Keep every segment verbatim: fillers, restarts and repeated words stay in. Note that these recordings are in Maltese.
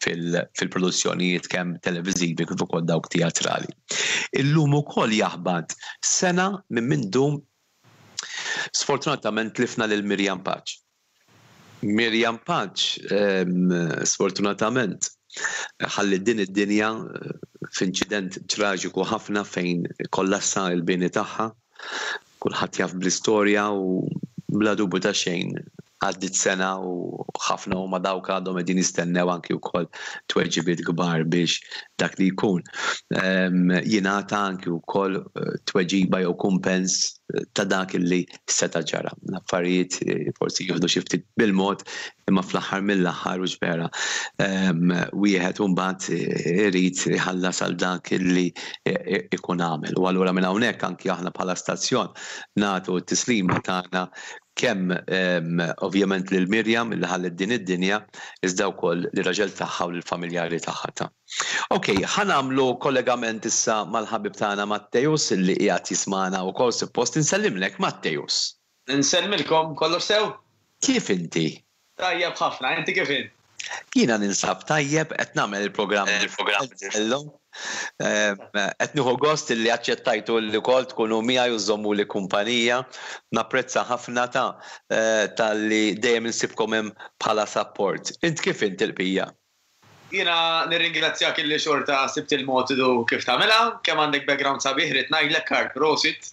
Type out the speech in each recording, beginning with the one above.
Fil-produzzjonijiet kemm televiżivi kif ukoll dawk teatrali. Illum ukoll jaħbat sena minn mindu sfortunatament tlifna lil Miriam Pace. Miriam Pace sfortunatament ħalliet din id-dinja f'inċident traġiku ħafna fejn kollassa il-bini tagħha. Kulħadd jaf bl-istorja u bla dubju ta' xejn għaddit sena u ħafna huma dawk għadhom qegħdin jistennew anki wkoll tweġibiet kbar biex dak li jkun jingħata anki wkoll eh, tweġiba jew kumpens eh, ta' dak li seta' ġara. L-affarijiet eh, forsi jieħdu xi ftit bil-mod, imma fl-aħħar mill-aħħar u vera wieħed imbagħad irid iħallas għal dak li ikun għamel. U allura minn hawnhekk anki aħna bħala stazzjon nagħtu t-tislima tagħna kemm ovvjament lil Mirjam li ħallet din id-dinja, iżda wkoll lir-raġel tagħha u lill-familjari tagħha ta'. Ok, ħa nagħmlu kollegament issa mal-ħabib tagħna Matteus li qiegħed jismana wkoll suppost. Insellimlek, Matteus. Insellmilkom, kollox sew? Kif inti? Tajjeb ħafna, inti kif int? Jiena ninsab tajjeb, qed nagħmel il-programm. Il-programm. Illum. Qed nieħu gost li aċċettajtu li wkoll tkunu miegħi u żommu li kumpanija. Napprezza ħafna ta' eh, talli dejjem insibkom hemm bħala support. Int kif int il-pija? Jiena nirringrazzjak illi xorta sibt il-motidu kif tagħmilha, kemm għandek background sabiħ, rrid ngħidlek, Karl, prosit.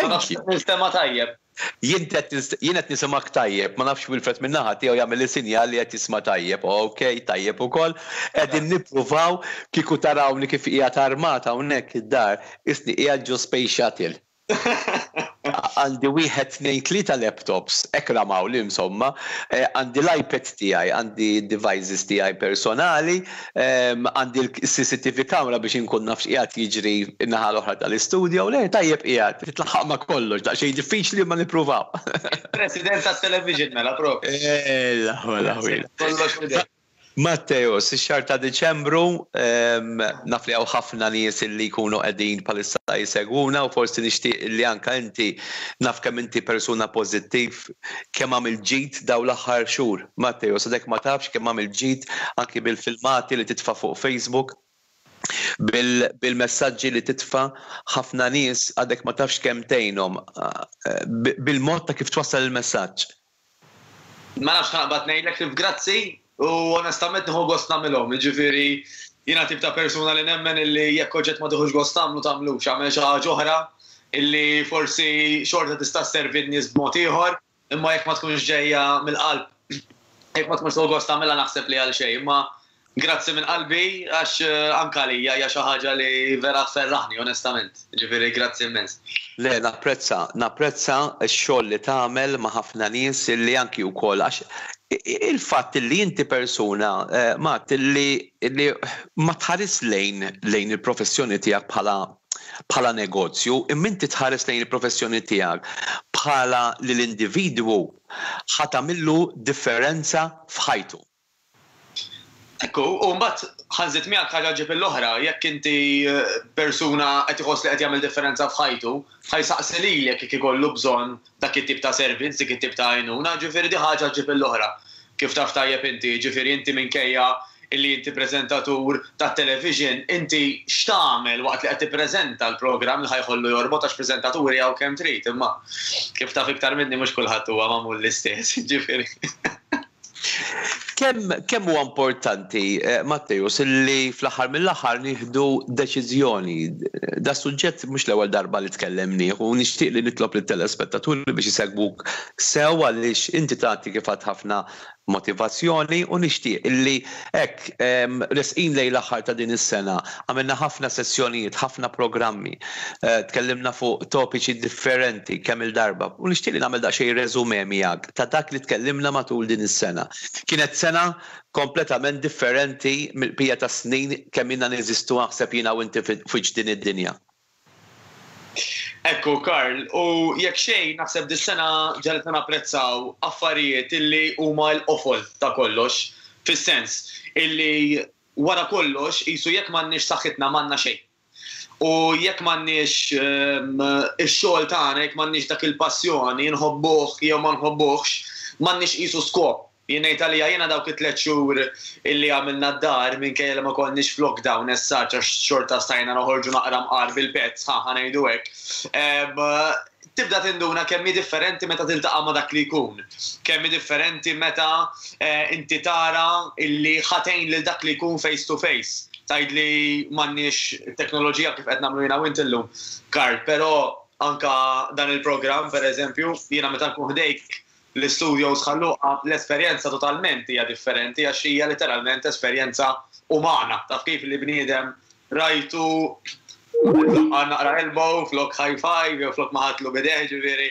Ma nafx nistema tajjeb. Jien qed nisimgħek tajjeb, ma nafx Wilfred min-naħa tiegħu jagħmel li sinjal li qed jisma' tajjeb. Ok, tajjeb ukoll. Qegħdin nippruvaw. Kieku tarawni kif qiegħed armata hawnhekk id-dar, isni qiegħed ġo space shuttle. Għandi wieħed, tnejn, tlieta laptops, hekk ramawli insomma, eh, għandi l-iPad tiegħi, għandi devices tiegħi personali, għandi l-C C T V camera biex inkun naf x'qiegħed jiġri n-naħa l-oħra tal-istudio, le tajjeb qiegħed, titlaħaq ma' kollox, daqsxejn diffiċli ma nippruvaw. President tat-television mela propju. Eh, la, Kollox. Matteus, ix-xahar ta' Diċembru, naf li hawn ħafna nies li jkunu qegħdin bħalissa jsegwuna u forsi nixtieq li anka inti, naf kemm inti persuna pożittiv, kemm għamil ġid daw l-aħħar xhur. Matteus, għadek ma tafx kemm għamil ġid anki bil-filmati li titfa' fuq Facebook, bil-messaġġi li titfa', ħafna nies għadek ma tafx kemm tgħinhom eh, bil-mod ta' kif twassal il-messaġġ. Ma nafx naqbad ngħidlek kif grazzi u onestament nieħu gost nagħmilhom, jiġifieri jiena tip ta' persuna li nemmen illi jekk oġġett ma tieħux gost tagħmlu, tagħmlux, għamel xi ħaġa oħra illi forsi xorta tista' sservi n-nies b'mod ieħor, imma jekk ma tkunx ġejja mill-qalb, jekk ma tkunx tieħu gost tagħmilha, naħseb li għal xejn, imma grazzi minn qalbi għax eh, anka lija hija xi ħaġa li vera tferraħni onestament. Ġifieri grazzi immens. Le, napprezza, napprezza x-xogħol li tagħmel ma' ħafna nies li anki wkoll għax il-fatt li inti persuna, eh, Matt, li, li ma tħares lejn lejn il-professjoni tiegħek bħala bħala negozju, imma inti tħares lejn il-professjoni tiegħek bħala li l-individwu ħa tagħmillu differenza f'ħajtu. Ekku, u mbagħad ħa nżid miegħek, ħaġa ġib l-oħra, jekk inti eh, persuna qed iħoss li qed jagħmel differenza f'ħajtu, ħa jsaqsi lilek jekk ikollu bżonn dak it-tip ta' servizz, dik it-tip ta' għajnuna, ġifieri di ħaġa ġib l-oħra. Kif taf tajjeb inti, ġifieri inti minkejja illi inti prezentatur ta' television, inti x'tagħmel waqt li qed tippreżenta l-programm li ħa jħollu jorbot, għax preżentaturi hawn kemm trid, imma kif taf iktar minni mhux kulħadd huwa magħmul l-istess, ġifieri. Kemm kemm huwa importanti, eh, Matteus, illi fl-aħħar mill-aħħar nieħdu deċiżjoni? Da suġġett mhux l-ewwel darba li tkellemnieh u nixtieq li nitlob lit-telespettaturi biex isegwuk sew għaliex inti tagħti kif ħafna motivazzjoni u nixtieq illi hekk resqin lejn l-aħħar ta' din is-sena, għamilna ħafna sessjonijiet, ħafna programmi, eh, tkellimna fuq topiċi differenti kemm il-darba u nixtieq li nagħmel daqsxejn resume miegħek ta' dak li tkellimna matul din is-sena. Kienet sena kompletament differenti mill-bqija ta' snin kemm ilna neżistu, naħseb jiena u inti, fuq din id-dinja. Ekku, Karl, u jekk xejn naħseb dis-sena ġegħlitna napprezzaw affarijiet illi huma l-qofol ta' kollox, fis-sens illi wara kollox jisu jekk m'għandniex saħħitna, m'għandna xejn. U jekk m'għandniex ehm, ix-xogħol tagħna, jekk m'għandniex dak il-passjoni, nħobbuh jew ma nħobbuhx, m'għandniex qisu skop. Jien ngħid għalija jiena dawk it-tliet xhur illi għamilna d-dar minkejja li ma konniex f'lockdown issa għax xorta stajna noħorġu naqra mqar bil-pets, ħa ħa ngħidu hekk. Tibda tinduna kemm hi differenti meta tiltaqa' ma' dak li jkun. Kemm hi differenti meta inti tara illi ħa tgħin lil dak li jkun face to face. Tgħid li m'għandniex teknoloġija kif qed nagħmlu jiena u inti llum, Karl, però anka dan il-programm pereżempju, jiena meta nkun ħdejk l-studios Ħal Luqa, l-esperjenza totalment hija differenti għax hija literalment esperjenza umana. Taf kif li bniedem rajtu naqra elbow, flok high five, jew flok ma ħadtlu b'idejh, ġifieri.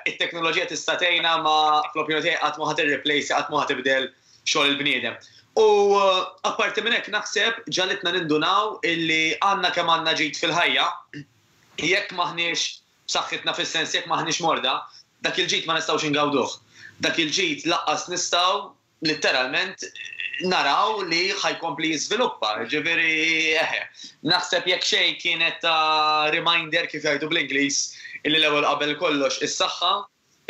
It-teknoloġija tista' tgħinna ma fl-opinjoni tiegħi qatt ma ħa tirreplace, qatt ma ħa tibdel xogħol il-bniedem. U apparti minn hekk naħseb ġagħlitna nindunaw illi għandna kemm għandna ġid fil-ħajja, jekk maħniex b'saħħitna fis-sens jekk maħniex morda, dak il-ġid ma nistgħux ingawduh. Dak il-ġid lanqas nistgħu literalment naraw li ħa jkompli jiżviluppa. Ġifieri, eħe, naħseb jekk xejn kienet ta' reminder kif jgħidu bl-Ingliż illi l-ewwel qabel kollox is-saħħa,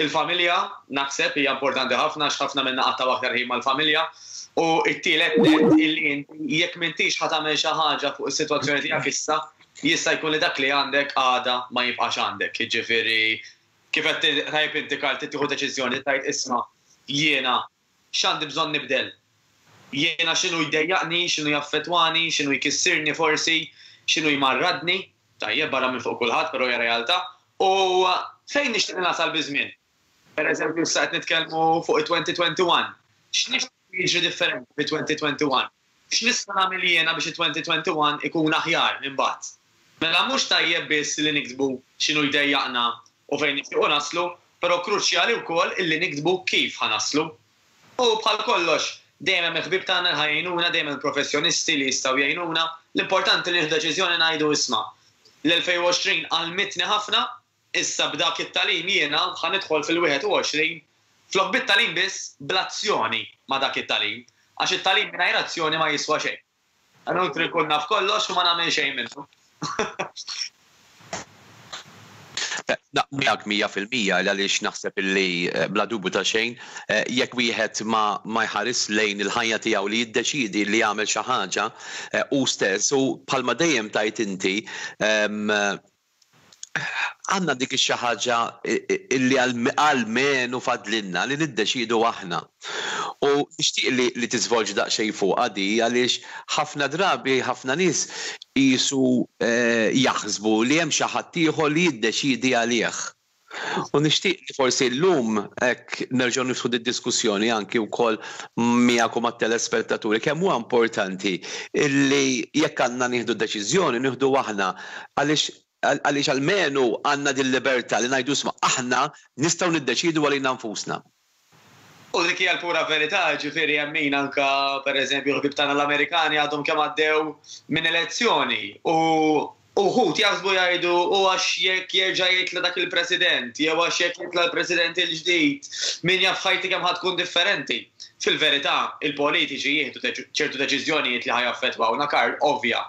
il-familja, naħseb hija importanti ħafna għax ħafna minna qattgħu aktar ħin mal-familja. U t-tielet nett illi inti jekk m'intix ħa tagħmel xi ħaġa fuq is-sitwazzjoni tiegħek issa, jista' jkun li dak li għandek għada ma jibqax għandek. Jiġifieri kif qed tajjeb inti Karl tieħu deċiżjoni tgħid isma' jiena x'għandi bżonn nibdel. Jiena x'inhu jdejjaqni, x'inhu jaffettwani, x'inhu jkissirni forsi, x'inhu jmarradni, tajjeb barra minn fuq kulħadd, però hija realtà. U fejn nixtieq nasal biż-żmien? Per eżempju, issa qed nitkellmu fuq it-twenty twenty-one. X'nixtieq jiġri differenti fi twenty twenty-one? X'nista' nagħmel jiena biex it-twenty twenty-one ikun aħjar minn bagħad? Mela mhux tajjeb biss li niktbu x'inhu jdejjaqna u fejn nixtiequ naslu, però kruċjali wkoll illi niktbu kif ħa naslu. U bħal kollox, dejjem hemm il-ħbieb tagħna li ħa jgħinuna, dejjem hemm professjonisti li jistgħu jgħinuna. L-importanti li nieħdu deċiżjoni ngħidu isma' l-elfejn u għoxrin għallmitni ħafna, issa b'dak it-tagħlim jiena ħa nidħol fil-wieħed u għoxrin flok bit-tagħlim biss bl-azzjoni ma' dak it-tagħlim. Għax it-tagħlim mingħajr azzjoni ma jiswa xejn. Inutli nkun naf kollox u ma nagħmel xejn minnu. Miegħek mija fil-mija għaliex naħseb illi eh, bla dubju ta' xejn eh, jekk wieħed ma, ma jħares lejn il-ħajja tiegħu li jiddeċidi li jagħmel xi ħaġa eh, u stess u bħalma dejjem tgħid inti għandna dik xi ħaġa illi għalmenu fadlilna li niddeċidu aħna. U nixtieq li, li tiżvolġi daqsxejn fuq di għaliex ħafna drabi ħafna nies jisu eh, jaħsbu li hemm xi ħadd ieħor li jiddeċidi għalih. U nixtieq li forsi llum hekk nerġgħu niftħu diskussjoni anki wkoll miegħek u mat-telespettaturi kemm huwa importanti illi jekk għandna nieħdu deċiżjoni nieħdu aħna għaliex għaliex almenu għandna din libertà li ngħidu isma' aħna nistgħu niddeċidu għalina nfusna. U dik hija l-pura verità, ġifieri hemm min anka pereżempju ħbieb tagħna l-Amerikani għadhom kemm għaddew minn elezzjoni u uħud jaħsbu jgħidu u għax jekk jerġa' jitla dak il-president, jew għax jekk jitla l-president il-ġdid, min jaf ħajti kemm ħa tkun differenti. Fil-verità, il-politiċi jieħdu ċertu deċiżjonijiet li ħa jaffettwawna Karl, ovvja.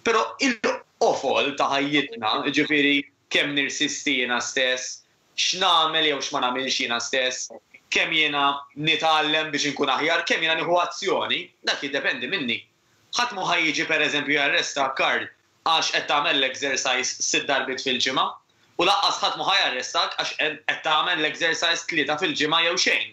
Però il-qofol ta' ħajjitna, ġifieri kemm nirsisti jiena stess, x'nagħmel jew x'ma nagħmilx jiena stess, kemm jiena nitgħallem biex inkun aħjar, kemm jiena nieħu azzjoni, dak jiddependi minni. Ħadd mu ħa jiġi pereżempju jarresta Karl għax qed tagħmel l-exercise sitt darbiet fil-ġimgħa u lanqas ħadd mu ħa jarrestak għax qed tagħmel l-exercise tlieta fil-ġimgħa jew xejn.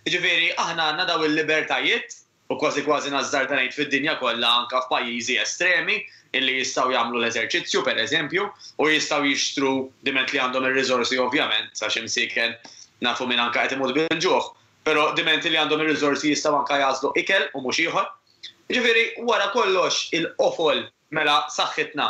Jiġifieri aħna għandna daw il-libertajiet u kważi kważi nażżarda ngħid fid-dinja kollha anke f'pajjiżi estremi illi jistgħu jagħmlu l-eżerċizzju pereżempju u jistgħu jixtru diment li għandhom ir-riżorsi ovvjament għax imsieken nafu min anke qed imut bil-ġuħ, però diment li għandhom ir-riżorsi jistgħu anke jagħżlu ikel u mhux ieħor. Ġifieri wara kollox il-qofol mela saħħitna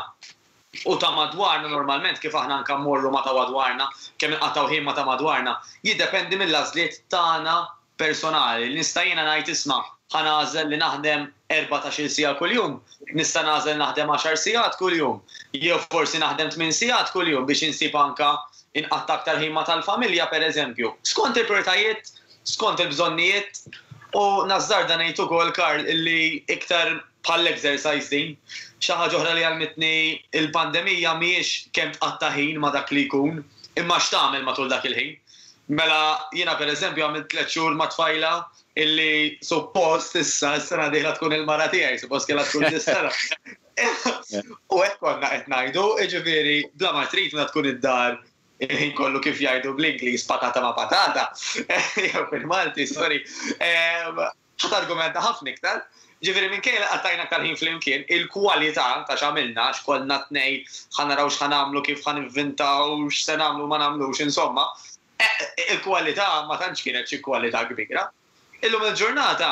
u ta' madwarna normalment kif aħna anke mmorru ma' ta' madwarna, kemm inqattgħu ħin ma' ta' madwarna, jiddependi mill-għażliet tagħna personali. Nista' jiena ngħid isma' ħa nagħżel li naħdem erbatax-il siegħa kuljum, nista' nagħżel naħdem għaxar sigħat kuljum, jew forsi naħdem tmien sigħat kuljum biex insib anka inqatta' aktar ħin ma' tal-familja pereżempju. Skont il-prioritajiet, skont il-bżonnijiet, u nażżarda ngħid ukoll Karl illi iktar bħall-exercise din, xi ħaġa oħra li għallmitni il-pandemija mhijiex kemm tqatta' ħin ma' dak li jkun, imma x'tagħmel matul dak il-ħin. Mela jiena pereżempju għamilt tliet xhur ma' tfajla illi suppost issa s-sena dieħla tkun il-mara tiegħi, suppost kellha tkun dis-sena. U hekk konna qed ngħidu, jiġifieri bla ma trid meta tkun id-dar il-ħin kollu kif jgħidu bl-Ingliż patata ma' patata, jew fil-Malti, sorry, ħa targumenta ħafna iktar. Ġifieri minkejja li qattajna aktar ħin flimkien, il-kwalità ta' x'għamilna, x'kollna tnej, ħa naraw x'ħa nagħmlu, kif ħa nivvintaw, x'se nagħmlu ma nagħmlux, insomma, il-kwalità ma tantx kienet xi kwalità kbira. Illum il-ġurnata,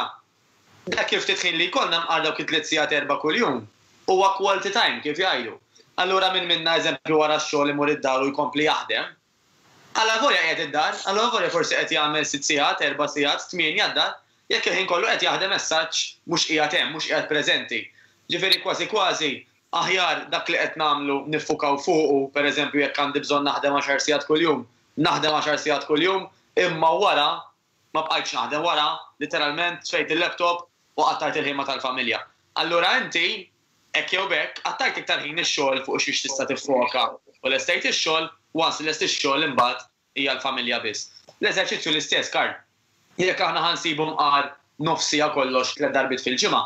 dak il-ftit ħin li jkollna mqar dawk it-tliet sigħat erba' kuljum, huwa quality time kif jgħidu. Allura min minna eżempju wara x-xogħol imur id-dar u jkompli jaħdem, alla volja qiegħed id-dar, alla volja forsi qed jagħmel sitt sigħat, erba' sigħat, tmienja d-dar, jekk il-ħin kollu qed jaħdem messaġġ mhux qiegħed hemm, mhux qiegħed preżenti. Ġifieri kważi kważi aħjar dak li qed nagħmlu niffukaw fuqu, pereżempju jekk għandi bżonn naħdem għaxar sigħat kuljum, naħdem għaxar sigħat kuljum, imma wara ma bqajtx naħdem, wara literalment tfejt il-laptop u qattajt il-ħin ma' tal-familja. Allura inti hekk jew b'hekk qattajt iktar ħin ix-xogħol fuq xiex tista' tiffoka u lestejt ix-xogħol, once li lest ix-xogħol imbagħad hija l-familja biss. L-eżerċizzju l-istess, Karl. Jekk aħna ħa nsibu mqar nofs siegħa kollox tliet darbiet fil-ġimgħa,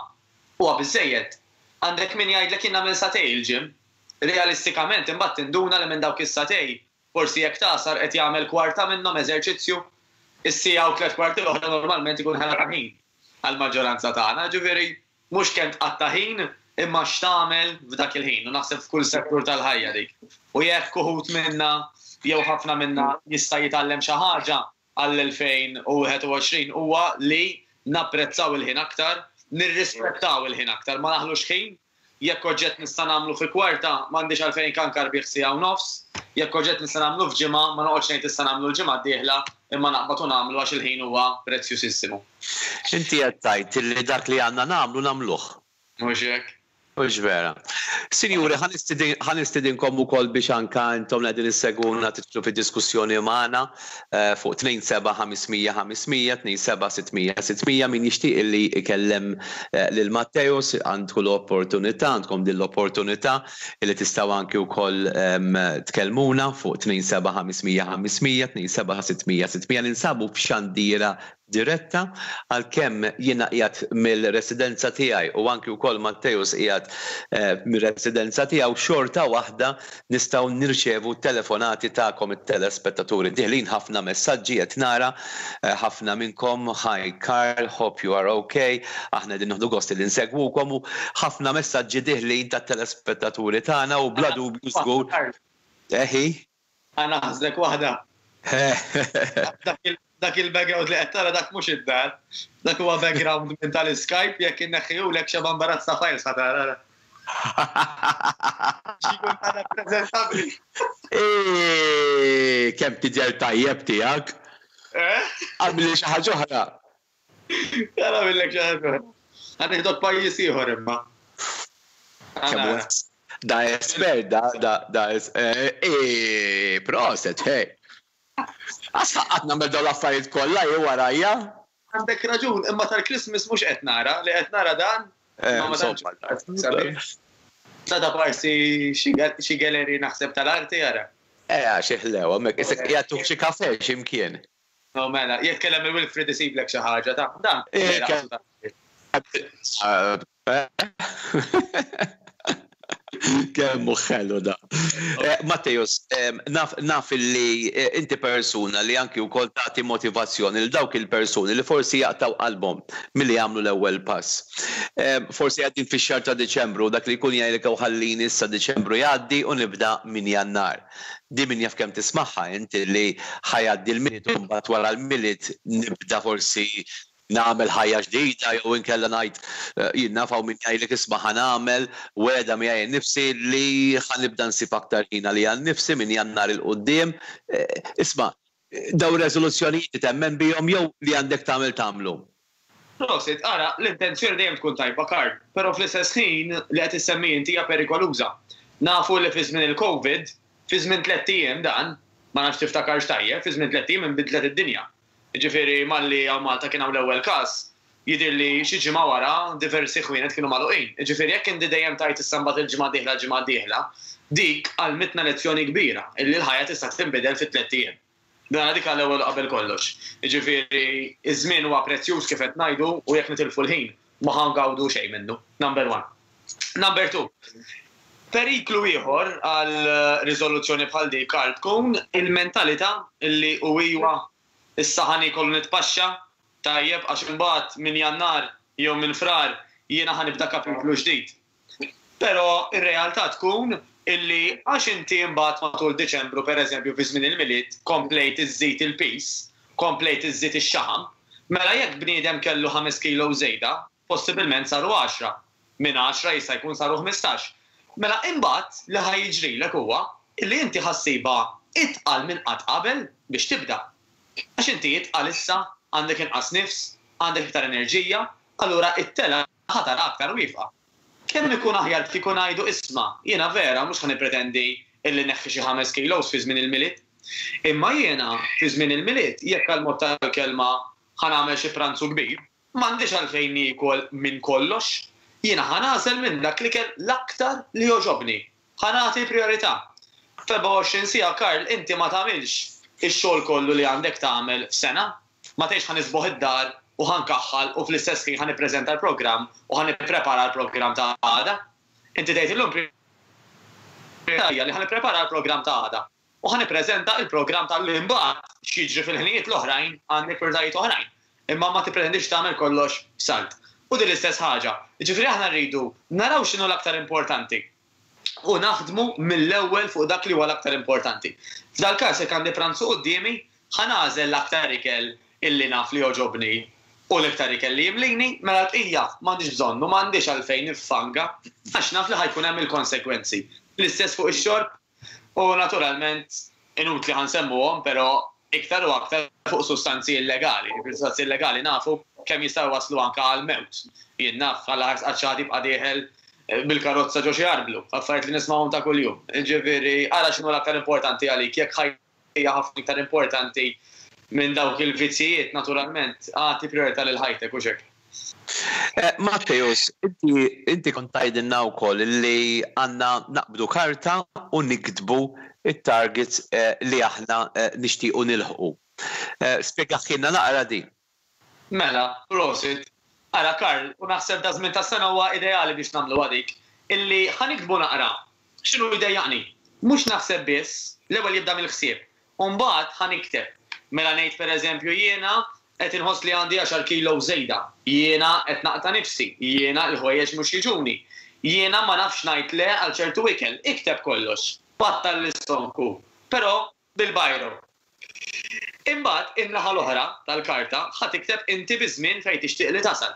huwa biżżejjed. Għandek min jgħidlek jien nagħmel sagħtejn il-gym. Realistikament imbagħad tinduna li minn dawk is-sagħtejn forsi jekk tagħsar qed jagħmel kwarta minnhom eżerċizzju, is-siegħa u tliet kwarti l-oħra normalment ikun ħela ta' ħin għall-maġġoranza tagħna. Ġifieri mhux kemm tqatta' ħin imma x'tagħmel f'dak il-ħin u naħseb f'kull settur tal-ħajja dik. U jekk uħud minna jew ħafna minna jista' jitgħallem xi ħaġa għall-elfejn u wieħed u għoxrin huwa li napprezzaw il-ħin aktar, nirrispettaw il-ħin aktar, ma naħlux ħin. Jekk oġġett nista' nagħmlu fi kwarta, m'għandix għalfejn kankar bih siegħa u nofs. Jekk oġġett nista' nagħmlu f'ġimgħa, ma noqgħodx ngħid issa nagħmlu l-ġimgħa d-dieħla, imma naqbad u nagħmlu għax il-ħin huwa prezzjusissimu. Inti qed tgħid li dak li għandna nagħmlu nagħmluh. Mhux hekk? Mhux vera. Sinjuri, ħa nistedinkom ukoll biex anka intom li qegħdin issegwuna tidħlu fid-diskussjoni magħna fuq tnejn seba' ħames mija ħames mija, tnejn seba' sitt mija sitt mija, min jixtieq li ikellem lil Matteus għandku l-opportunità, għandkom din l-opportunità li tistgħu anki wkoll tkellmuna fuq tnejn seba' ħames mija ħames mija, tnejn seba' sitt mija sitt mija. Ninsabu f'xandira diretta għalkemm jiena qiegħed mill-residenza tiegħi u anki wkoll Matteus qiegħed mir-residenza tiegħu, xorta waħda nistgħu nirċevu telefonati tagħkom it-telespettaturi. Diħlin ħafna messaġġi qed nara ħafna minnkom, "Hi Karl, hope you are okay." Aħna din nieħdu gost li nsegwukom u ħafna messaġġi diħlin tat-telespettaturi tagħna u bla dubju żgur. Eħi? Għana ħażlek waħda. Dak il-background li qed tara dak mhux id-dar. Dak huwa background minn tal-Skype, jekk inneħħihulek xeba imbarazz ta' files ħa tara. Xikun tara preżentabbli. Kemm tidher tajjeb tiegħek. Għamli xi ħaġa oħra. Tara millek xi ħaġa oħra. Ħa nieħdok pajjiż ieħor imma. Da espert, da da da eh proset, hey. Għax ħaqqat nagħmel dawn l-affarijiet kollha jew warajja. Għandek raġun, imma tal-Christmas mhux qed nara, li qed nara dan. Da da parsi xi gallery naħseb tal-arti jara. Eh, xi ħlew, hemmhekk isek jagħtuk xi kafe x'imkien. No mela, jitkellem il-Wilfrid isiblek xi ħaġa ta' dan. Kemm ħelu da. Matteus, naf, naf li inti persuna li anki wkoll tagħti motivazzjoni lil dawk il-persuni li forsi jaqtaw qalbhom milli jagħmlu l-ewwel pass. Forsi għaddin fix-xahar ta' Diċembru, dak li jkun jgħidlek ħallini issa Diċembru jgħaddi u nibda minn Jannar. Di min jaf kemm tismagħha inti li ħa jgħaddi l-Milied u mbagħad wara l-Milied nibda forsi nagħmel ħajja ġdida jew inkella ngħid jien naf hawn min jgħidlek isma' ħa nagħmel wegħda miegħi nnifsi li ħa nibda nsib aktar ħin għalija nnifsi minn Jannar 'il quddiem. Isma' daw ir-reżoluzzjonijiet temmen bihom jew li għandek tagħmel tagħmlu? Prosit, ara, l-intenzjoni dejjem tkun tajba, Karl, però fl-istess ħin li qed issemmi inti hija perikoluża. Nafu li fi żmien il-Covid, fi żmien tliet ijiem dan, ma nafx tiftakarx tajjeb, fi żmien tliet ijiem inbidlet id-dinja. Ġifieri malli hawn Malta kien hawn l-ewwel każ, jidher li xi ġimgħa wara diversi ħwienet kienu magħluqin. Ġifieri jekk inti dejjem tajt issa mbagħad il-ġimgħa dieħla l-ġimgħa dieħla, dik għalmitna lezzjoni kbira illi l-ħajja tista' tinbidel fi tliet ijiem. Dan dik għall-ewwel qabel kollox. Jiġifieri iż-żmien huwa prezzjuż kif qed ngħidu u jekk nitilfu l-ħin ma ħa ngawdu xejn minnu. Number one. Number two. Periklu ieħor għal riżoluzzjoni bħal dik Karl tkun il-mentalità illi u iwa issa ħa niekol nitpaxxa tajjeb għax imbagħad minn Jannar jew minn Frar jiena ħa nibda kapitlu ġdid. Però ir-realtà tkun illi għax inti imbagħad matul Diċembru pereżempju fi żmien il-Milied komplejt iżżid il-piż, komplejt iżżid ix-xaħam, mela jekk bniedem kellu ħames kilo żejda, possibilment saru għaxra. Minn għaxra jista' jkun saru ħmistax. Mela imbagħad li ħa jiġrilek huwa illi inti ħa ssibha itqal minn qatt qabel biex tibda. Għax inti itqal issa, għandek inqas nifs, għandek iktar enerġija, allura it-telgħa ħa tara aktar wieqfa. Kemm ikun aħjar kieku ngħidu isma' jiena vera mhux ħa nippretendi illi neħħi xi ħames kilos fi żmien il-Milied. Imma jiena fi żmien il-Milied jekk għall-mod tal-kelma ħa nagħmel xi pranzu kbir, m'għandix għalfejn niekol minn kollox. Jiena ħa nagħżel minn dak l-ikel l-aktar li jogħġobni. Ħa nagħti prijorità. F'erbgħa u għoxrin siegħa, Karl, inti ma tagħmilx ix-xogħol kollu li għandek tagħmel f'sena. Ma tgħidx ħa nisboħ id-dar u ħa nkaħħal u fl-istess ħin ħa nippreżenta l-programm u ħa nipprepara l-programm ta' għada. Inti tgħid illum prijorità hija li ħa nipprepara l-programm ta' għada. U ħa nippreżenta l-programm tal-lum imbagħad x'jiġri fil-ħinijiet l-oħrajn għandek prijoritajiet oħrajn. Imma ma tippretendix tagħmel kollox f'salt. U din l-istess ħaġa. Jiġifieri aħna rridu naraw x'inhu l-aktar importanti u naħdmu mill-ewwel fuq dak li huwa l-aktar importanti. F'dal-każ jekk għandi pranzu quddiemi, ħa nagħżel l-aktar ikel illi naf li jogħġobni u l-iktar ikel li jimlini, mela l-bqija m'għandix bżonn u m'għandix għalfejn niffanga għax naf li ħa jkun hemm il-konsegwenzi. L-istess fuq ix-xorb u naturalment inutli ħa nsemmuhom però iktar u aktar fuq sustanzi illegali. Sustanzi illegali nafu kemm jistgħu waslu anke għal mewt. Jien naf għal ħars qaċċati jibqa' dieħel bil-karozza ġo xi arblu, affarijiet li nismgħuhom ta' kuljum. Ġifieri ara x'inhu l-aktar importanti għalik, jekk ħajja ħafna iktar importanti minn dawk il-vizzijiet naturalment, agħti prijorità lil ħajtek u xek. Matteus, inti kont tgħidilna wkoll li għandna naqbdu karta u niktbu it-targets li aħna nixtiequ nilħqu. Spjegahielna naqra din. Mela, prosit. Ara Karl, u naħseb da żmien tas-sena huwa ideali biex nagħmlu għadik, illi ħa niktbu naqra x'inhu jdejjaqni. Mhux naħseb biss, l-ewwel jibda mill-ħsieb. U mbagħad ħa nikteb. Mela ngħid pereżempju jiena qed inħoss li għandi għaxar kilo żejda, jiena qed naqta' nifsi, jiena l-ħwejjeġ mhux jiġuni, jiena ma nafx ngħid le għal ċertu ikel. Ikteb kollox, battal l-istonku, però bil-bajro. Imbagħad in-naħa l-oħra tal-karta ħa tikteb inti biż-żmien fejn tixtieq li tasal.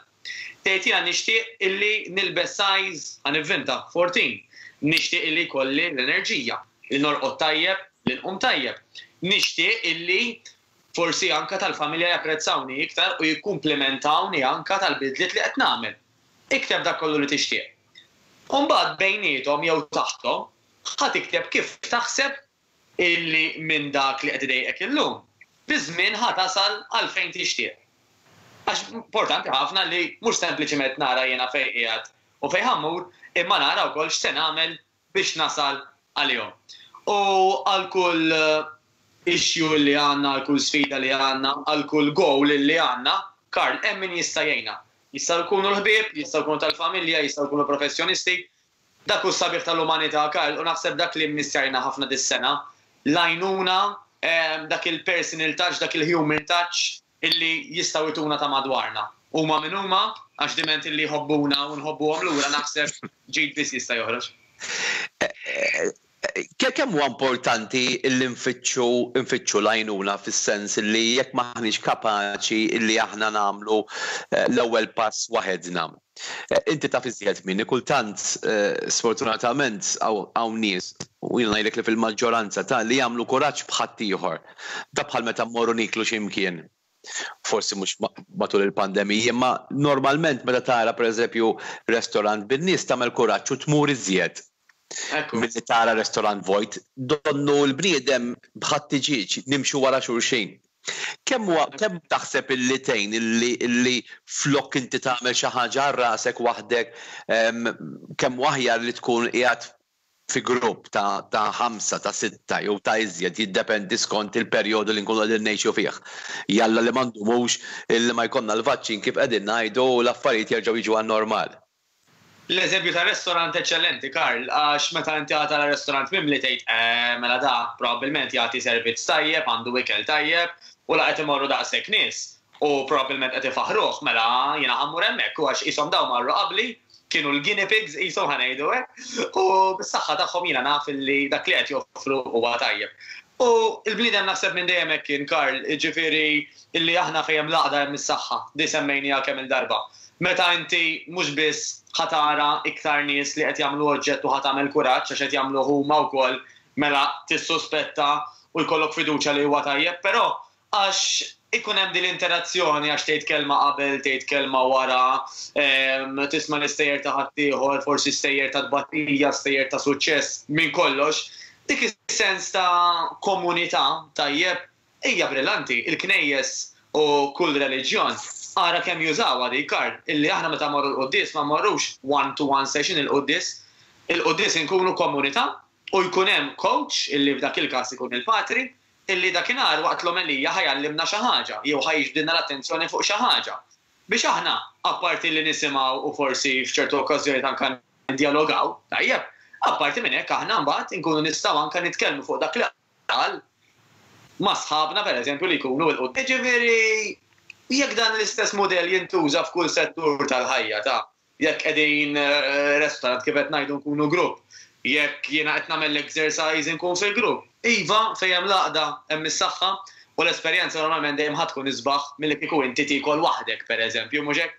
Tgħid jiena nixtieq illi nilbes size, ħa nivvinta, fourteen. Nixtieq illi jkolli l-enerġija, li norqod tajjeb, li nqum tajjeb. Nixtieq illi forsi anka tal-familja japprezzawni iktar u jikkumplimentawni anka tal-bidliet li qed nagħmel. Ikteb dak kollu li tixtieq. U mbagħad bejniethom jew taħthom ħa tikteb kif taħseb illi minn dak li qed idejqek illum, biż-żmien ħa tasal għal fejn tixtieq. Għax importanti ħafna li mhux sempliċiment nara jiena fejn qiegħed u fejn ħa mmur, imma nara wkoll x'se nagħmel biex nasal għalihom. U għal kull issue li għandna, għal kull sfida li għandna, għal kull goal li għandna, Karl, hemm min jista' jgħinna. Jistgħu jkunu l-ħbieb, jistgħu jkunu tal-familja, jistgħu jkunu professjonisti. Dak hu sabiħ tal-umanità, Karl, u naħseb dak li mmissjajna ħafna dis-sena, l-għajnuna, dak il-personal touch, dak il-human touch illi jistgħu jtuna ta' madwarna. Huma min huma, għax diment illi jħobbuna u nħobbuhom lura naħseb ġid biss jista' joħroġ. Kemm huwa importanti li nfittxu nfittxu l-għajnuna fis-sens li jekk m'aħniex kapaċi li aħna nagħmlu l-ewwel pass waħedna. Inti taf iżjed minni, kultant sfortunatament hawn nies u jiena ngħidlek li fil-maġġoranza ta' li jagħmlu kuraġġ b'ħaddieħor. Da bħal meta mmorru niklu xi mkien. Forsi mhux matul il-pandemija, imma normalment meta tara pereżempju restorant bin-nies tagħmel kuraġġ u tmur iżjed. Milli tara restorant vojt, donnu l-bniedem bħat-tiġieġ nimxu wara xulxin. Kemm huwa kemm taħseb illi tgħin illi illi flok inti tagħmel xi ħaġa għal rasek waħdek, kemm huwa aħjar li tkun qiegħed fi grupp ta' ta' ħamsa, ta' sitta jew ta' iżjed, jiddependi skont il-perjodu li nkunu qegħdin ngħixu fih. Jalla li ma ndumux illi ma jkollna l-vaċċin, kif qegħdin ngħidu, u l-affarijiet jerġgħu jiġu għan-normal. L-eżempju ta' restaurant eċċellenti, Karl, għax meta inti għata la restaurant mimli tgħid, eh, mela da probabbilment jagħti servizz tajjeb, għandu ikel tajjeb, u la qed imorru daqshekk nies u probabbilment qed ifaħruh, mela jiena ħa mmur hemmhekk u għax qishom daw marru qabli, kienu l-guinea pigs qishom, ħa ngħidu hekk, u bis-saħħa tagħhom jiena naf li dak li qed joffru huwa tajjeb. U il-bniedem naħseb minn dejjem hekk kien, Karl, ġifieri illi aħna fejn l-għaqda hemm is-saħħa, di semmejniha kemm il-darba. Meta inti mhux biss ħa tara iktar nies li qed jagħmlu oġġett u ħa tagħmel kuraġġ għax qed jagħmlu huma wkoll, mela tissuspetta u jkollok fiduċja li huwa tajjeb, però għax ikun hemm din l-interazzjoni, għax tgħid kelma qabel, tgħid kelma wara, tisma' l-istejjer ta' ħaddieħor, forsi stejjer ta' tbatija, stejjer ta' suċċess, minn kollox, dik is-sens ta' komunità tajjeb hija brillanti. Il-knejjes u kull reliġjon ara kemm jużawha di, Karl, illi aħna meta morru l-quddies ma morrux one-to-one session il-quddies, il-quddies inkunu komunità u jkun hemm coach illi f'dak il-każ ikun il-patri, illi dakinhar waqt l-omelija ħa jgħallimna xi ħaġa jew ħa jiġbdilna l-attenzjoni fuq xi ħaġa. Biex aħna, apparti li nisimgħu u forsi f'ċertu okkażjoni anke dialogaw, tajjeb, apparti minn hekk aħna mbagħad inkunu nistgħu anke nitkellmu fuq dak li qal ma' sħabna, pereżempju, li jkunu l-quddiem. Ġifieri jekk dan l-istess modell jintuża f'kull settur tal-ħajja, ta' jekk qegħdin eh, restaurant, kif qed ngħidu, nkunu grupp, jekk jiena qed nagħmel exercise nkun fil-grupp. Iva, fejn hemm l-għaqda hemm is-saħħa u l-esperjenza normalment dejjem ħa tkun isbaħ milli kieku inti tiekol waħdek, pereżempju, mhux hekk?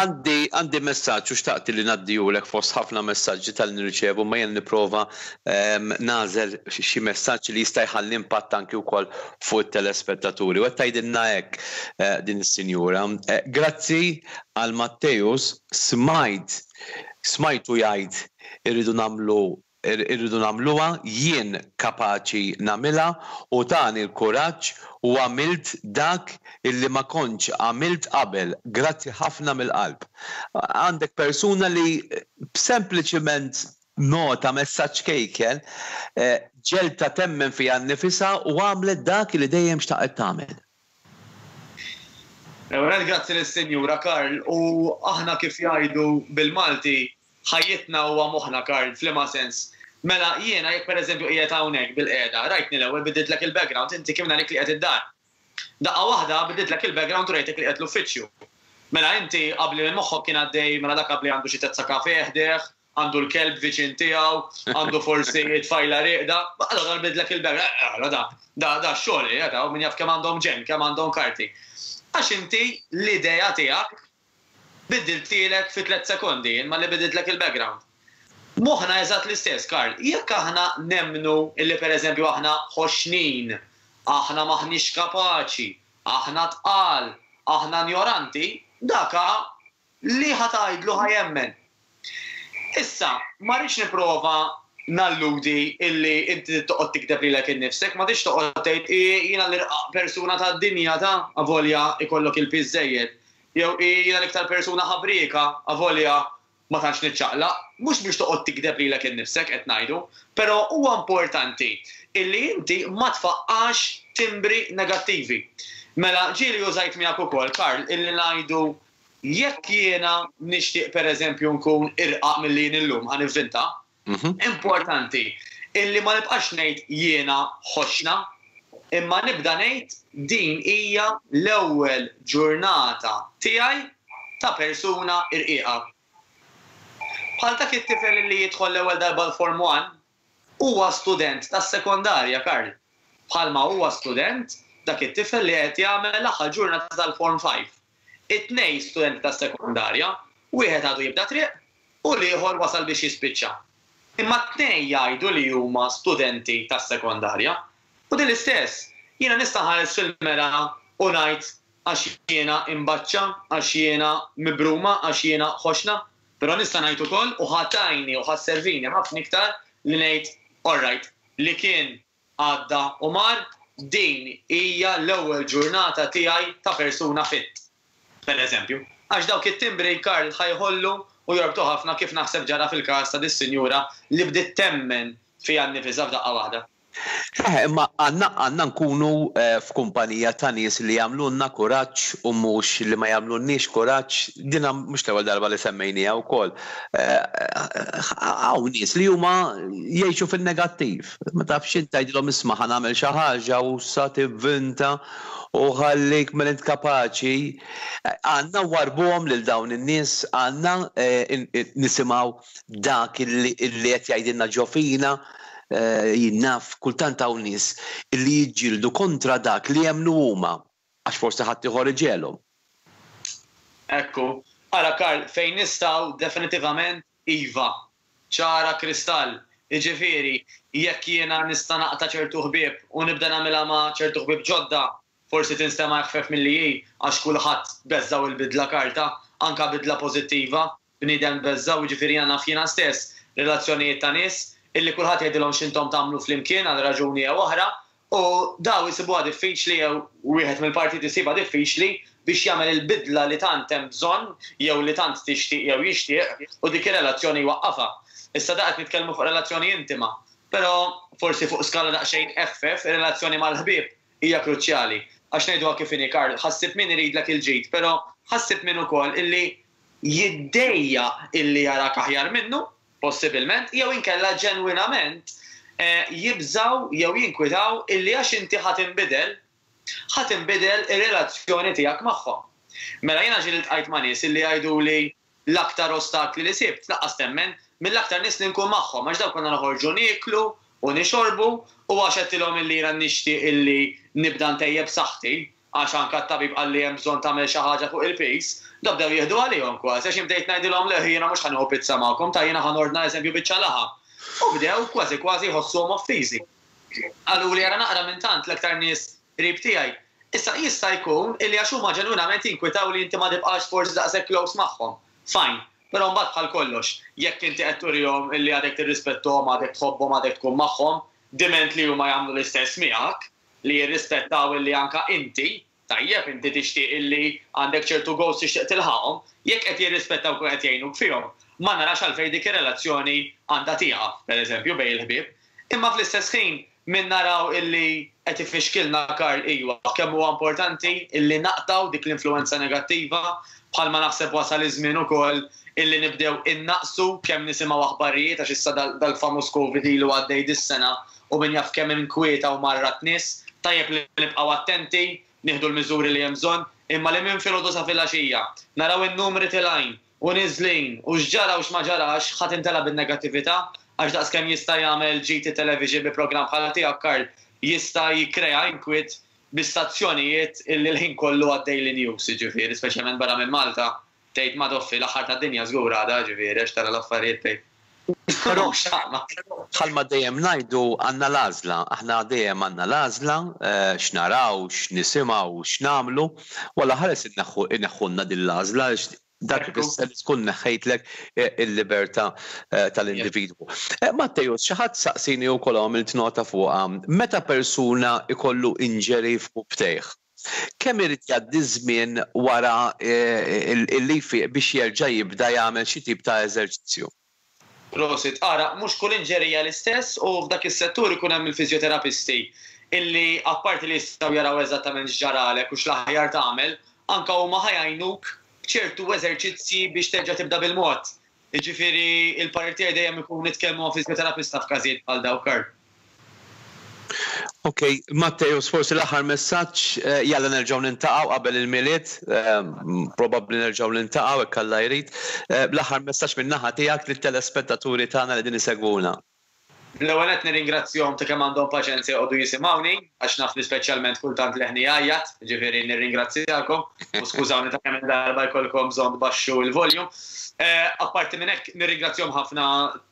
Għandi għandi messaġġ u xtaqt li ngħaddihulek fost ħafna messaġġi tal nirċevu, ma jien nipprova ehm, nagħżel xi messaġġ li jista' jħalli impatt anki wkoll fuq it-telespettaturi. U qed tgħidilna hekk eh, din is-sinjura. Eh, grazzi għal Matteus, smajt smajtu jgħid irridu nagħmlu irridu nagħmluha, jien kapaċi nagħmilha, u tani l-kuraġġ u għamilt dak illi ma kontx għamilt qabel. Grazzi ħafna mill-qalb. Għandek persuna li sempliċiment nota messaġġ kejken eh, ġegħlitha temmen fiha nnifisha u għamlet dak li dejjem xtaqet tagħmel. Ewwel grazzi lis-Sinjura, Karl, u aħna, kif jgħidu bil-Malti, ħajjitna huwa moħħna, Karl, f'liema sens? Mela jiena jekk pereżempju qiegħed hawnhekk bil-qiegħda, rajtni l-ewwel bidditlek il-background, inti kif narik li qiegħed id-dar. Daqqa waħda bidditlek il-background u rajtek li qiegħed l-uffiċċju. Mela inti qabli minn moħħok kien għaddej, mela dak qabli għandu xi tazza kafè ħdejh, għandu l-kelb viċin tiegħu, għandu forsi tfajla rieqda, allora bidlek il-background, eh, da, da, da xogħol, da, min jaf kemm għandhom ġen, kemm għandhom karti. Għax inti l-idea tiegħek biddiltilek fi tliet sekondi, imma li bidiltlek il-background. Moħħna eżatt l-istess, Karl. Jekk aħna nemnu illi pereżempju aħna ħoxnin, aħna maħniex kapaċi, aħna tqal, aħna ignoranti, daka li ħa tgħidlu ħa jemmen. Issa, ma rridx nipprova nalludi illi inti toqgħod tikdeb lilek innifsek, ma tix toqgħod tgħid jiena l-irqaq persuna tad-dinja, ta' avolja ikollok il-piż żejjed. Jew jiena l-iktar persuna ħabrika avolja ma tantx niċċaqlaq, mhux biex toqgħod tikdeb lilek innifsek qed ngħidu, però huwa importanti illi inti ma tfaqqax timbri negattivi. Mela ġieli użajt miegħek ukoll, Karl, illi ngħidu jekk jiena nixtieq, pereżempju, nkun irqaq milli jien illum, ħa nivvinta, Mhm. importanti illi ma nibqax ngħid jiena ħoxna, imma nibda ngħid din hija l-ewwel ġurnata tiegħi ta' persuna irqiqa. Bħal dak it-tifel li jidħol l-ewwel darba l-Form one, huwa student tas-sekondarja, Karl. Bħalma huwa student dak it-tifel li qed jagħmel l-aħħar ġurnata tal-Form five. It-tnejn studenti tas-sekondarja, wieħed għadu jibda triq u l-ieħor wasal biex jispiċċa. Imma t-tnejn jgħidu li huma studenti tas-sekondarja. U din l-istess, jiena nista' nħares fil-mera u ngħid għax jiena imbaċċa, għax jiena mibruma, għax jiena ħoxna, però nista' ngħid ukoll u ħa tgħinni u ħa sservini ħafna iktar li ngħid, all right, li kien għadda u mar, din hija l-ewwel ġurnata tiegħi ta' persuna fit. Per eżempju, għax dawk it-timbri, Karl, ħa jħollu u jorbtu ħafna, kif naħseb ġara fil-każ ta' dis-sinjura li bdiet temmen fiha nnifisha f'daqqa waħda. Eh, imma għandna għandna nkunu eh, f'kumpanija ta' nies li jagħmlulna kuraġġ u mhux li ma jagħmlulniex kuraġġ. Dina mhux l-ewwel darba li semmejniha wkoll. Eh, hawn nies li huma jgħixu fin-negattiv. Ma tafx int, tgħidilhom, "Isma', ħa nagħmel xi ħaġa," u sa tivvinta u ħallik minn int kapaċi. Għandna nwarrbuhom lil dawn in-nies, għandna nisimgħu dak illi qed jgħidilna ġo fina. Jien naf, kultant hawn nies illi jiġġieldu kontra dak li jemmnu huma għax forsi ħadd ieħor iġegħelhom. Ekku. Ara Karl, fejn nistgħu, definitivament iva. Ċara kristall. Jiġifieri, jekk jiena nista' naqta' ċertu ħbieb u nibda nagħmilha ma' ċertu ħbieb ġodda, forsi tinstema' eħfef milli hi, għax kulħadd beżżaw il-bidla karta, anka bidla pożittiva, bniedem beżżaw. Jiġifieri jiena naf jiena stess relazzjonijiet ta' nies illi kulħadd jgħidilhom x'intom tagħmlu flimkien għal raġuni jew oħra, u daw jisibuha diffiċli jew wieħed mill-partit isibha diffiċli biex jagħmel il-bidla li tant hemm bżonn jew li tant tixtieq jew jixtieq u dik ir-relazzjoni jwaqqafha. Issa da qed nitkellmu fuq relazzjoni intima, però forsi fuq skala daqsxejn eħfef, ir-relazzjoni mal-ħbieb hija kruċjali. Għax ngħiduha kif inhi, Karl, ħa ssib min iridlek il-ġid, però ħa ssib min ukoll illi jiddejjaq illi jarak aħjar minnu, possibilment, jew inkella ġenwinament eh, jibżaw jew jinkwitaw illi għax inti ħa tinbidel, ħa tinbidel ir-relazzjoni tiegħek magħhom. Mela jiena ġieli ltqajt ma' nies illi jgħidu li l-aktar ostakli li sibt, lanqas temmen, mill-aktar nies li nkun magħhom, għax daw konna noħorġu nieklu u nixorbu, u għax għedtilhom illi jiena nixtieq illi nibda ntejjeb saħħti, għax anka t-tabib qalli hemm bżonn tagħmel xi ħaġa fuq il-piż, da bdew jieħdu għalihom kważi, għax bdejt ngħidilhom, "Le, jiena mhux ħa nieħu pizza magħkom, ta' jiena ħa nordna eżempju biċċa laħam." U bdew kważi kważi jħossuhom offiżi. Qaluli li jara naqra minn tant l-aktar nies qrib tiegħi. Issa jista' jkun illi għax huma ġenwinament jinkwitaw li inti ma tibqax forsi daqshekk close magħhom. Fine, però mbagħad bħal kollox, jekk inti qed turihom illi għadek tirrispettohom, għadek tħobbhom, għadek tkun magħhom, diment li huma jagħmlu l-istess miegħek, li jirrispettaw illi anka inti, tajjeb, inti tixtieq illi għandek ċertu goals tixtieq tilħaqhom, jekk qed jirrispettaw u qed jgħinuk fihom, ma narax għalfejn dik ir-relazzjoni għandha tieqaf, pereżempju, bejn il-ħbieb. Imma fl-istess ħin min naraw illi qed ifixkilna, Karl, iwa, kemm huwa importanti illi naqtaw dik l-influenza negattiva, bħalma naħseb wasal iż-żmien ukoll illi nibdew innaqsu kemm nisimgħu aħbarijiet, għax issa dal-famuż Covid ilu għaddej dis-sena u min jaf kemm inkwieta u marrat nies. Tajjeb li nibqgħu attenti, nieħdu l-miżuri li hemm bżonn, imma li minn filgħodu sa filgħaxija naraw in-numri telgħin u niżlin u x'ġara u x'ma ġarax, ħadd intela bin-negattività, għax daqs kemm jista' jagħmel G T Television bi programm bħala tiegħek, Karl, jista' jikkrea inkwiet bi stazzjonijiet illi l-ħin kollu għaddej li news, jiġifieri, speċjalment barra minn Malta, tgħid ma doffi l-aħħar tad-dinja żgur għada, ġifieri, għax tara l-affarijiet tgħid. Però bħalma dejjem ngħidu, għandna l-għażla, aħna dejjem għandna l-għażla eh, x'naraw, x'nisimgħu, x'nagħmlu, walla ħares inneħħulna din l-għażla, dak ifisser li tkun neħħejtlek eh, il-libertà eh, tal-individwu. Matteo, xi ħadd saqsini wkoll, għamilt nota fuqha, meta persuna ikollu injury f'rukbtejh, kemm irid jgħaddi żmien wara illi biex jerġa' jibda jagħmel xi tip ta' eżerċizzju? Prosit, ara, mhux kull injury hija l-istess u f'dak is-settur ikun hemm il-fiżjoterapisti illi apparti li jistgħu jaraw eżattament x'ġaralek u x'l-aħjar tagħmel, anka huma ħa jgħinuk ċertu eżerċizzji biex terġa' tibda bil-mod. Jiġifieri il-parir tiegħi dejjem ikun nitkellmu ma' fiżjoterapista f'każijiet bħal dawk, Karl. Ok, Matteo, forsi l-aħħar messaġġ, eh, jalla nerġgħu niltaqgħu qabel il-Milied, eh, probabbli nerġgħu niltaqgħu hekk Alla jrid. Eh, l-aħħar messaġġ min-naħa tiegħek lit-telespettaturi tagħna li din isegwuna. L-ewwel qed nirringrazzjahom ta' kemm għandhom paċenzja jqogħdu jisimgħuni, għax naf li speċjalment kultant leħni jgħajjat, ġifieri nirringrazzjakom u skużawni ta' kemm darba jkollkom bżonn tbaxxu il-volume. Apparti minn hekk nirringrazzjahom ħafna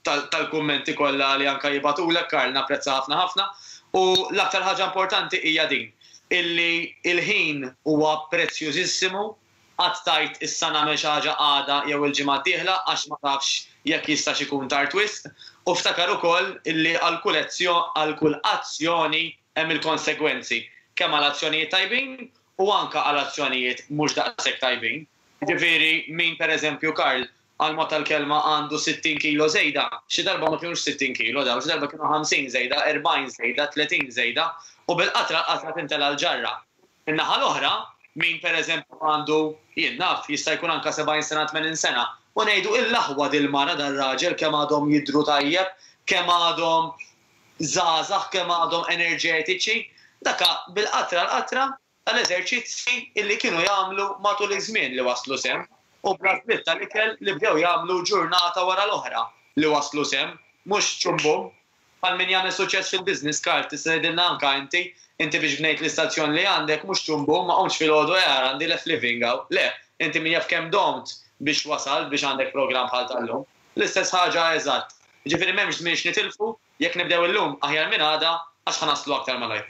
tal-kummenti kollha li anka jibagħtulek, Karl, napprezza ħafna ħafna. U l-aktar ħaġa importanti hija din, illi il-ħin huwa prezzjużissimu, qatt tgħid issa nagħmel xi ħaġa għada jew il-ġimgħa d-dieħla, għax ma tafx jekk jistax ikun tard wisq, u ftakar ukoll illi għal kull għal kull azzjoni hemm il-konsegwenzi, kemm għal azzjonijiet tajbin u anka għal azzjonijiet mhux daqshekk tajbin. Ġifieri min pereżempju, Karl, għal mod tal-kelma għandu sittin kilo żejda, xi darba ma kienux sittin kilo daw, xi darba kienu ħamsin żejda, erbgħin żejda, tletin żejda, u bil-qatra l-qatra tintela l-ġarra. In-naħa l-oħra, min pereżempju għandu, jien naf, jista' jkun anke sebgħin sena, tmenin sena, u ngħidu il-laħwa dil-mara dar-raġel kemm għadhom jidhru tajjeb, kemm għadhom żgħażagħ, kemm għadhom enerġetiċi, daka bil-qatra l-qatra tal-eżerċizzi illi kienu jagħmlu matul iż-żmien li waslu sehem, u bl-għażliet tal-ikel li bdew jagħmlu ġurnata wara l-oħra li waslu sehem, mhux ċumbum. Bħal min jagħmel suċċess fil-business card, tista' tgħidilna anke inti, inti biex bnejt l-istazzjon li għandek mhux ċumbum, ma qomtx filgħodu eh ara għandi left living hawn. Le, inti min jaf kemm domt biex wasalt biex għandek programm bħal tal-lum. L-istess ħaġa eżatt. Jiġifieri m'hemmx żmien x'nitilfu, jekk nibdew illum aħjar minn għada għax ħa naslu aktar malajr.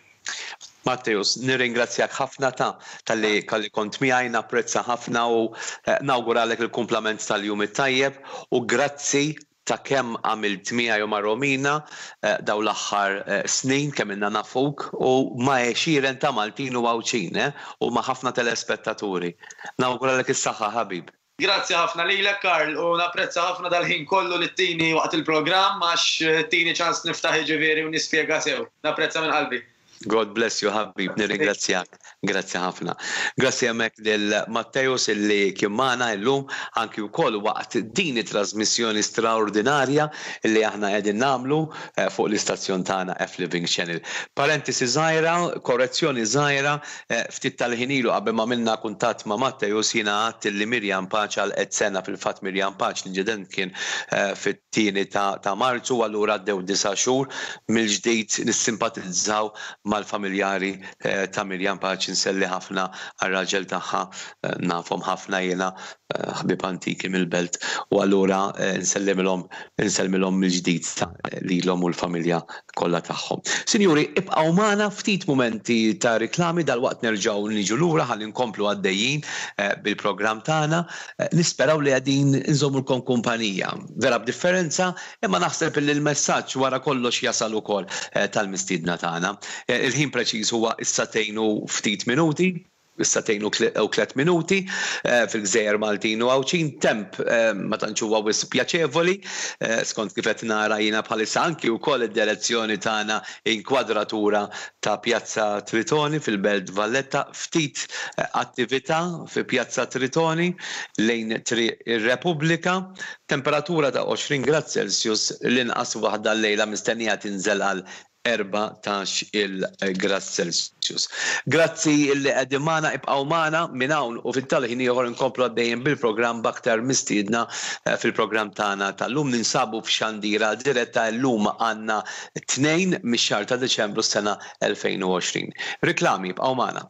Matteus, nirringrazzjak ħafna ta' talli kalli kont miegħi, napprezza ħafna u nawguralek il-kumplament tal-jum it-tajjeb u grazzi ta' kemm għamilt miegħi u ma' Romina daw l-aħħar snin kemm ilna nafuk u ma' għexieren ta' Maltin u Għawdxin u ma' ħafna telespettaturi. Nawguralek is-saħħa ħabib. Grazzi ħafna lilek Karl u napprezza ħafna dal-ħin kollu li ttini waqt il-programm għax tini ċans niftaħ jiġifieri u nispjega sew. Napprezza minn qalbi. God bless you ħabib, nirringrazzjak. Grazzi ħafna. Grazzi hemmhekk lil Matteus illi kien magħna llum anki wkoll waqt din it-trasmissjoni straordinarja illi aħna qegħdin nagħmlu fuq l-istazzjon tagħna F Living Channel. Parentesi żgħira, korrezzjoni żgħira, ftit tal-ħin ilu qabel ma għamilna kuntatt ma' Matteus jiena għadt illi Mirjam Paċ għalqet sena, fil-fatt Mirjam Paċ l-inċident kien fit-tieni ta' Marzu, allura għaddew disa' xhur mill-ġdid nissimpatizzaw mal-familjari ta' Mirjam Paċ, nselli ħafna għar-raġel tagħha, nafhom ħafna jiena, ħbieb antiki mill-belt, u allura nsellimilhom, nsellmilhom mill-ġdid lilhom u l-familja kollha tagħhom. Sinjuri, ibqgħu magħna ftit mumenti ta' riklami, dalwaqt nerġgħu niġu lura ħalli nkomplu għaddejjin bil-programm tagħna. Nisperaw li qegħdin nżommulkom kumpanija. Vera b'differenza, imma naħseb li l-messaġġ wara kollox jasal ukoll tal-mistiedna tagħna. Il-ħin preċiż huwa is-sagħtejn u ftit minuti, is-sagħtejn u tliet minuti fil-Gżejjer Maltin u Għawdxin, temp ma tantx huwa wisq pjaċevoli, skont kif qed nara jiena bħalissa anki wkoll id-direzzjoni tagħna inkwadratura ta' Pjazza Tritoni fil-Belt Valletta, ftit attività fi Pjazza Tritoni lejn Triq ir-Repubblika, temperatura ta' għoxrin grad Celsius, l-inqas waħda llejla mistennija tinżel għal erbatax il-grad Celsius. Grazzi li qegħdin magħna, ibqgħu magħna minn hawn u fit-tal-ħin ieħor inkomplu għaddejjin bil-programm b'aktar mistiedna fil-programm tagħna tal-lum. Ninsabu f'xandira diretta llum għandna tnejn mix-xahar ta' Deċembru s-sena elfejn u għoxrin. Riklami, ibqgħu magħna.